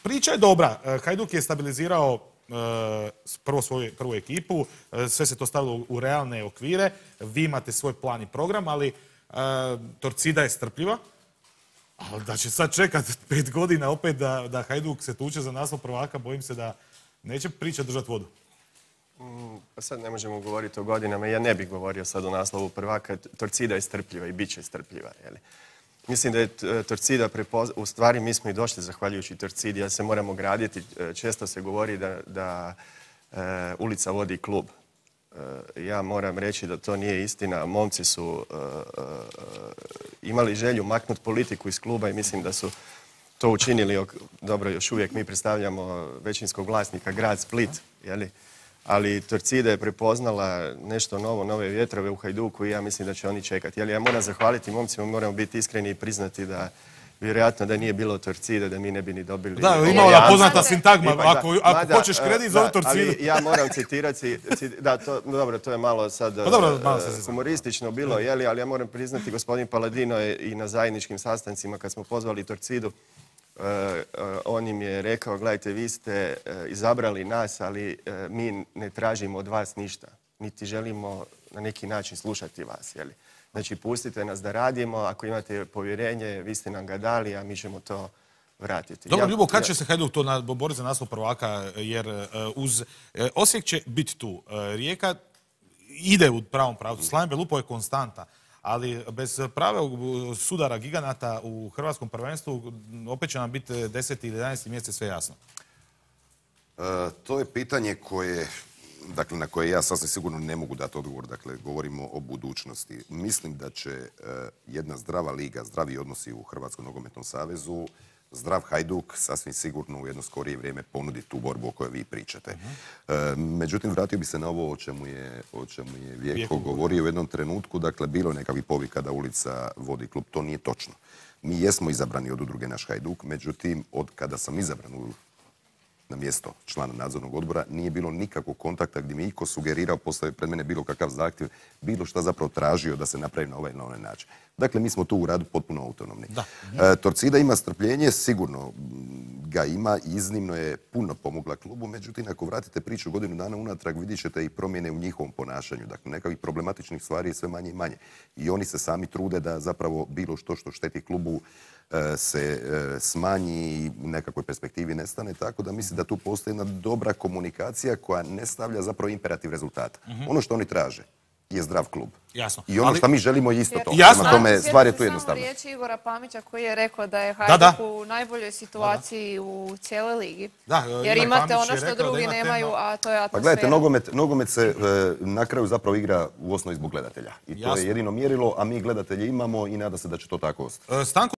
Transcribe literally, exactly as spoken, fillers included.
priča je dobra. Hajduk je stabilizirao prvo svoju prvu ekipu, sve se to stavilo u realne okvire, vi imate svoj plan i program, ali Torcida je strpljiva, ali da će sad čekati pet godina opet da, da Hajduk se tuče za naslov prvaka, bojim se da neće priča držati vodu. Mm, pa sad ne možemo govoriti o godinama, ja ne bih govorio sad o naslovu prvaka, Torcida je strpljiva i bit će strpljiva, jeli? Mislim da je Torcida prepoznala, u stvari mi smo i došli zahvaljujući Torcidi, ja se moramo graditi. Često se govori da, da e, ulica vodi klub. E, ja moram reći da to nije istina. Momci su e, e, imali želju maknuti politiku iz kluba i mislim da su to učinili. Dobro, još uvijek mi predstavljamo većinskog vlasnika, grad Split, jeli? Ali Torcida je prepoznala nešto novo, nove vjetrove u Hajduku i ja mislim da će oni čekati. Ja moram zahvaliti momcima, moramo biti iskreni i priznati da vjerojatno da nije bilo Torcide, da mi ne bi ni dobili... Da, imao da poznata sintagma, ako, ako hoćeš kredit, zove Torcidu. Ali ja moram citirati, da, to, dobro, to je malo sad pa dobro, malo humoristično bilo, jeli, ali ja moram priznati, gospodin Paladino je i na zajedničkim sastancima kad smo pozvali Torcidu, Uh, uh, on im je rekao, gledajte, vi ste uh, izabrali nas, ali uh, mi ne tražimo od vas ništa. Niti želimo na neki način slušati vas. Jeli? Znači, pustite nas da radimo, ako imate povjerenje, vi ste nam ga dali, a mi ćemo to vratiti. Dobro, Ljubo, kad će se Hajduk to boriti za naslov prvaka, jer uh, uz uh, Osijek će biti tu. Uh, Rijeka ide u pravom pravcu, Slaven Belupo je konstanta. Ali bez pravog sudara giganata u hrvatskom prvenstvu opet će nam biti deseti ili jedanaesti mjesec sve jasno. E, to je pitanje koje, dakle, na koje ja sasvim sigurno ne mogu dati odgovor. Dakle, govorimo o budućnosti. Mislim da će e, jedna zdrava liga, zdravi odnosi u Hrvatskom nogometnom savezu, zdrav Hajduk sasvim sigurno u jedno skorije vrijeme ponudi tu borbu o kojoj vi pričate. Uh-huh. E, međutim, vratio bi se na ovo o čemu je, o čemu je Vjeko govorio u jednom trenutku. Dakle, bilo je nekakvih povika da ulica vodi klub. To nije točno. Mi jesmo izabrani od udruge Naš Hajduk, međutim, od kada sam izabran u, na mjesto člana nadzornog odbora, nije bilo nikakvog kontakta gdje mi iko sugerirao, postavio pred mene bilo kakav zahtjev, bilo šta zapravo tražio da se napravi na ovaj na onaj način. Dakle, mi smo tu u radu potpuno autonomni. Da. E, Torcida ima strpljenje, sigurno ga ima, iznimno je puno pomogla klubu, međutim, ako vratite priču godinu dana unatrag, vidjet ćete i promjene u njihovom ponašanju. Dakle, nekakvih problematičnih stvari je sve manje i manje. I oni se sami trude da zapravo bilo što što šteti klubu e, se e, smanji i u nekakvoj perspektivi nestane, tako da mislim da tu postoji jedna dobra komunikacija koja ne stavlja zapravo imperativ rezultata. Uh-huh. Ono što oni traže je zdrav klub. Jasno. I ono ali... što mi želimo je isto to. Jasno. Prema tome, stvar je tu jednostavna. Samo riječi Igora Pamića koji je rekao da je Hajduk da, da. u najboljoj situaciji da, da. u cijeloj ligi. Da, jer imate ono što drugi nemaju, a to je atmosfera. Pa gledajte, nogomet, nogomet se e, na kraju zapravo igra u osnovi zbog gledatelja. I to Jasno. je jedino mjerilo, a mi gledatelje imamo i nada se da će to tako ostati.